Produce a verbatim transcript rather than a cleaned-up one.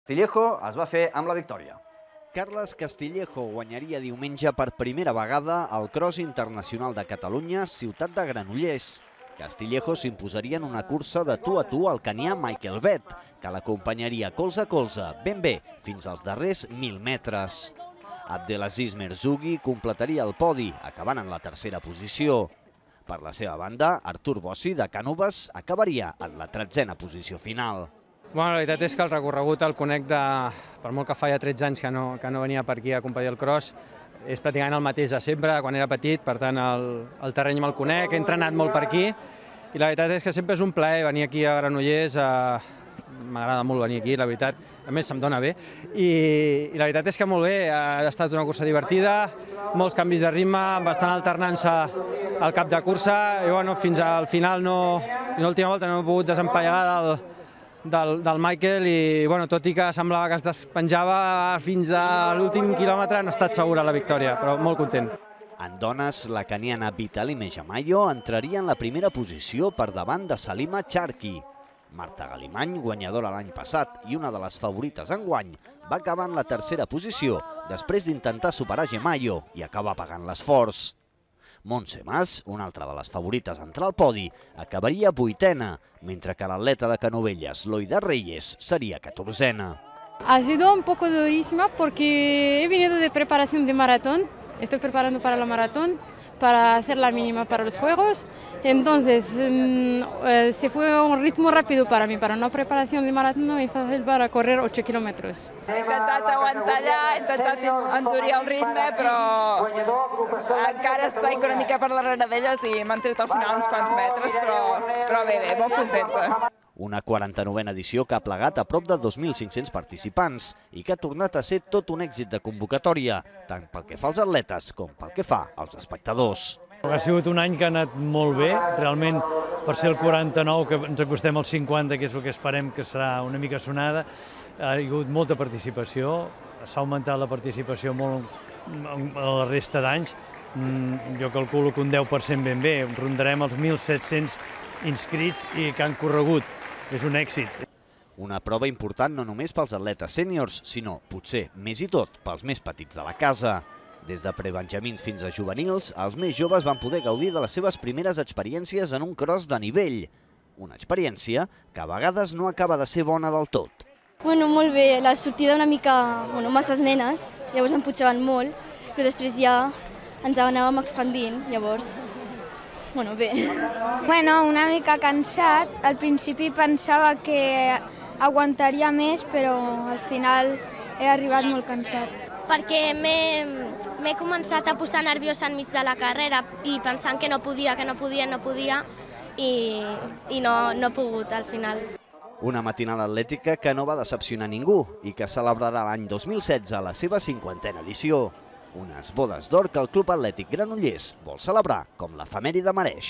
Castillejo es va fer amb la victòria. Carles Castillejo guanyaria diumenge per primera vegada el Cross Internacional de Catalunya, ciutat de Granollers. Castillejo s'imposaria en una cursa de tu a tu al canià Michael Vett, que l'acompanyaria colze a colze, ben bé, fins als darrers mil metres. Abdelaziz Merzougi completaria el podi, acabant en la tercera posició. Per la seva banda, Artur Bossi, de Cànoves, acabaria en la tretzena posició final. Bueno, la veritat és que el recorregut el conec de... Per molt que fa ja tretze anys que no, que no venia per aquí a competir el cross, és pràcticament el mateix de sempre, quan era petit, per tant el, el terreny me'l conec, he entrenat molt per aquí, i la veritat és que sempre és un plaer venir aquí a Granollers, eh, m'agrada molt venir aquí, la veritat, a més se'm dona bé, i, i la veritat és que molt bé, ha estat una cursa divertida, molts canvis de ritme, bastant alternança al cap de cursa, i bueno, fins al final, no, fins a l'última volta no he pogut desempallegar del, Del, del Michael i, bueno, tot i que semblava que es despenjava fins a l'últim quilòmetre, no ha estat segura la victòria, però molt content. En dones, la caniana Vitali Mejamayo entraria en la primera posició per davant de Salima Charki. Marta Galimany, guanyadora l'any passat i una de les favorites enguany, va acabar en la tercera posició després d'intentar superar Gemayo i acabar pagant l'esforç. Montse Mas, una altra de les favorites a entrar al podi, acabaria vuitena, mentre que l'atleta de Canovelles, Loida Reyes, seria catorzena. Ha sido un poco durísima porque he venido de preparación de maratón, estoy preparando para la maratón, para hacer la mínima para los Juegos, entonces eh, se fue un ritmo rápido para mí, para una preparación de maratón no es fácil para correr ocho kilómetros. He intentat aguantar allà, he intentat endurir el ritme, però encara estic una mica per darrere d'elles i m'han tret al final uns quants metres, però, però bé, bé, molt contenta. Una quaranta-novena edició que ha plegat a prop de dos mil cinc-cents participants i que ha tornat a ser tot un èxit de convocatòria, tant pel que fa als atletes com pel que fa als espectadors. Ha sigut un any que ha anat molt bé, realment per ser el quaranta-nou, que ens acostem al cinquanta, que és el que esperem que serà una mica sonada, ha hagut molta participació, s'ha augmentat la participació molt a la resta d'anys, jo calculo que un deu per cent ben bé, rondarem els mil set-cents inscrits i que han corregut. És un èxit. Una prova important no només pels atletes sèniors, sinó, potser, més i tot, pels més petits de la casa. Des de prebenjamins fins a juvenils, els més joves van poder gaudir de les seves primeres experiències en un cross de nivell. Una experiència que a vegades no acaba de ser bona del tot. Bueno, molt bé, la sortida una mica, bueno, masses nenes, llavors em pujaven molt, però després ja ens anàvem expandint, llavors... Bueno, bé. Bueno, una mica cansat. Al principi pensava que aguantaria més, però al final he arribat molt cansat. Perquè m'he començat a posar nerviosa enmig de la carrera i pensant que no podia, que no podia, no podia i, i no, no he pogut al final. Una matinal atlètica que no va decepcionar ningú i que celebrarà l'any dos mil setze la seva cinquantena edició. Unes bodes d'or que el Club Atlètic Granollers vol celebrar com l'efemèride mereix.